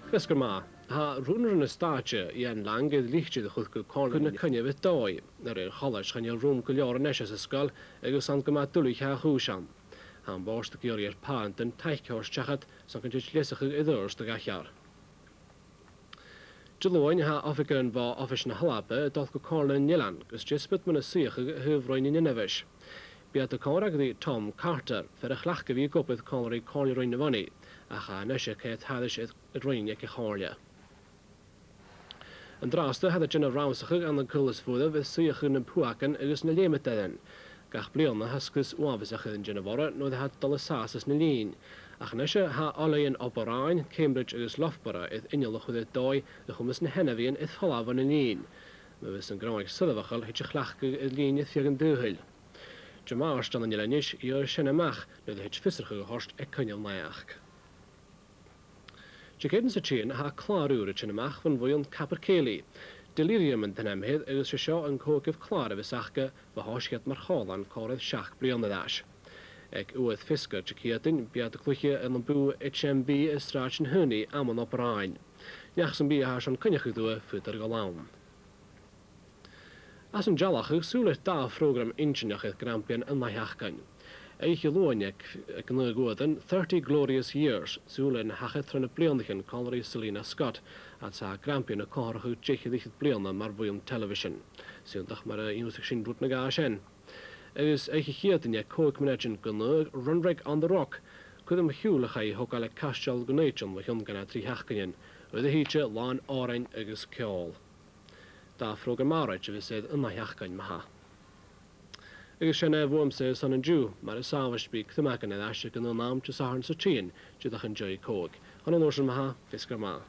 Fios gur maith. Thá rúnra na stáitse, Jan Lang, id lichte do chuid go Comhairle na coinne bhith dóigh. Ar aon cholais, cha níl rúm go leor anois as an scoil agus san go mbeadh dul cheá chúis ann. Thá an bóiste ag iarraidh ar páirnt den taithceoir teacht san go dtit liosacha i dturas do gach ear. Dé Luain, thá oifig an bhá Oifis na hAlba ag dul go Comhairle na nOileán agus diospóid muna suíochadh a thaobh Roinn an Inbhis. B'iad a comhrá go dtí Tom Carter, fer a chleachtadh a bhí ag obair Comhairleoirí Comhairle Roinn na Bhunnaí, ach anois a cé tathais i Roinn ag a Chomhairle. An drásta thad a déanamh ramsacha gan na gculas fuadaibh i suíochadh na bpuacan agus na léimeadh Gach bliana thá scrios uaibheasach ar an déanamh orra nuair atá dul i sás na lín. Ach anois thá Oiléan Oberáin, Cambridge agus Loughborough id inneall a chur ar dóigh i chumas na hainmhíonn id folamh na lín. Má bhíos an gráig soirbheachal thit a chleachtadh ar lín id fiagan dúthail. Dé Máirt an inneall anois iarr sin amach nuair a thit fiosrachadh a thoirt ag coinneal na each. Dé Céadaoin sa tSín thá clár úr ag sin amach fan bhuíon Capercaillie. Delirium an t-ainm air agus sé seo an cóiceamh clár a bheas aca fa thoisceart mar chomhlán comhraidh seacht bliana ar ais. Ag uaidh fioscair Dé Céadaoin bead a cluiche ar an bú HMB i Sráid na hUnaí am an operáin. Neach san bia thá sean coinneach ag dua faoi dar go ann. As an dteallach ag súil leis dá phrógram intinneach ag Grampian an Mhaith Oíche Luain ag gnaoi guadan 30 Glorious Years, súil ar na hacha tráth na blianachen Connery Selina Scott, atá Grampian a comhthracha deich fhichead bliana mar bhuíon television. Siúntach mar a fhiúsach sin rud na gá sin. Agus oíche Chéadaoin ag cóic mneitin gnaoi Runrig on the Rock, cuid am shiúl a chaith thógáil ag Caisteal Gnaoitean mo chionn gan a trí sheachtaine, rud a híte lán árainn agus ceol. Dá phrógram maráit a bhí siad an sheachtain maithe. Agus sin é bhuaimse san an Jew, mar is sábhais bí crumacan ar ais ag an am te Satharn sa tSín, de an Joy Cóig. Chun an uair sin maithe, fios gur maith.